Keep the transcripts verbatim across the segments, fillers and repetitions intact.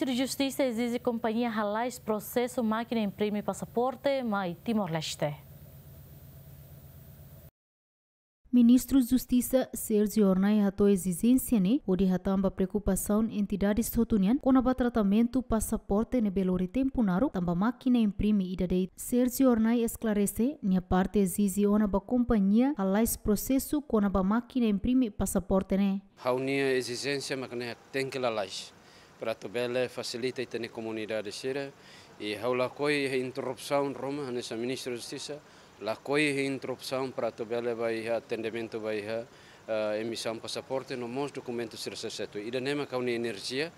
Ministru Justisa ezije kompañia halais prosesu mákina imprime pasaporte mai Timor-Leste. Ministru Justisa Sérgio Hornai hato'o ezijénsia ne'e hodi hatán ba preokupasaun entidades hotu nian kona-ba tratamentu pasaporte ne'ebé lori tempu naruk tanba mákina imprime ida de'it. Sérgio Hornai esklarese, nia parte ezije ona ba kompañia halais prosesu kona-ba mákina imprime pasaporte ne'e. Ha'u-nia ezijénsia mak ne'e tenke lalais, para atu bele fasilita ita-nia komunidade sira. I ha'u lakohi iha interrupsaun ruma, hanesan Ministru Justisa, lakohi iha interrupsaun para atu bele ba iha atendimentu ba iha, eh, emisaun pasaporte no mós dokumentu sira seluk. Ida-ne'e mak ha'u-nia enerjia,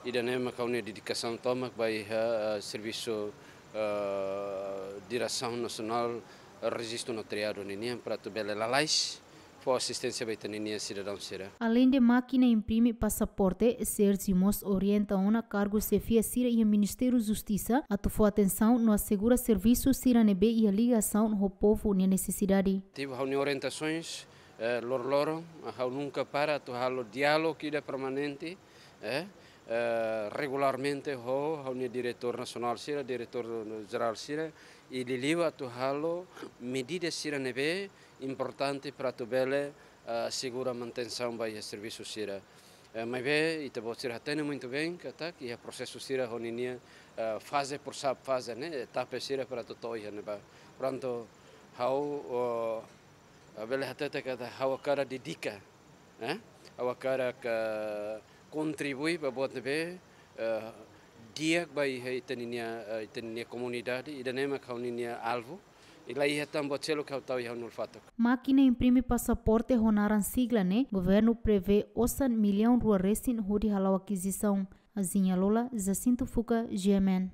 ida-ne'e mak ha'u-nia dedikasaun tomak ba iha, eh, servisu, eh, Diresaun Nasionál Rejistu Notariadu ninian para atu bele lalais fó asisténsia ba ita-nia sidadaun sira. Aleinde mákina imprime pasaporte, Sérgio mós orienta ona kargu xefia sira iha Ministériu Justisa atu fó atensaun no asegura servisu sira ne'ebé iha ligasaun ho povu nia nesesidade. Ativu ha'u-nia orientasoens, eh, loroloron, ha'u nunka para atu halo diálogu ida permanente, eh, eh, regularmente ho ha'u-nia diretór nasionál sira, diretór jerál sira, i liuliu atu halo medida sira ne'ebé importante para atu bele, eh, asegura manutensaun ba iha servisu sira. Eh, maibé ita-boot sira hatene muitu bein katak iha prosesu sira ho ninia, eh, faze por sub faze ne'e, etapa sira para atu to'o iha ne'ebá. Prontu, ha'u, oh, bele hatete katak ha'u hakarak dedika, eh? Ha'u hakarak kontribui ba buat ne'ebé, eh, di'ak ba iha ita-nia, eh, ita-nia komunidade, ida-ne'e mak ha'u-nia alvu, i la iha tan buat seluk ha'u tau iha ha'u-nia olfatuk. Mákina imprime pasaporte ho naran sigla ne'e, governu prevee osan millaun rua resin hodi hala'o akizisaun. Azinha Lola, Jacinto Fuca, G M N.